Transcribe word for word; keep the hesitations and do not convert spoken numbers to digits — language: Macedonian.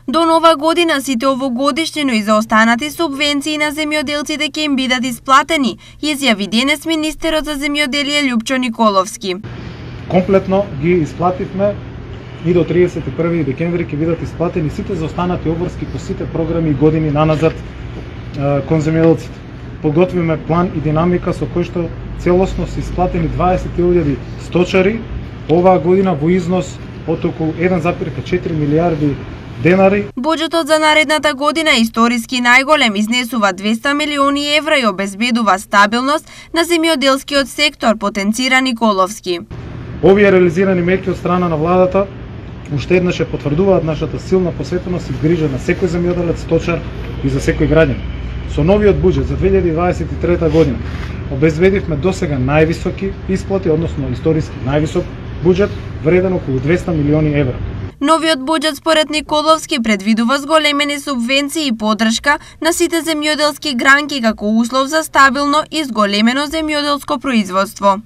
До нова година сите овогодишни, но и заостанати субвенции на земјоделците ќе им бидат исплатени, изјави денес министерот за земјоделие Љупчо Николовски. Комплетно ги исплативме и до триесет и први декември ќе бидат исплатени сите заостанати обврски по сите програми и години наназад кон земјоделците. Подготвиме план и динамика со кој што целосно се исплатени дваесет илјади сточари оваа година во износ од околу еден зарез четири милијарди денари. Буџетот за наредната година е историски најголем, изнесува двесте милиони евра и обезбедува стабилност на земјоделскиот сектор, потенцира Николовски. Овие реализирани мерки од страна на владата уште еднаш потврдуваат нашата силна посветеност и грижа на секој земјоделец, сточар и за секој граѓанин. Со новиот буџет за две илјади дваесет и трета година обезбедивме досега највисоки исплати, односно историски највисок буџет вреден околу двесте милиони евра. Новиот буџет според Николовски предвидува зголемени субвенции и поддршка на сите земјоделски гранки како услов за стабилно и зголемено земјоделско производство.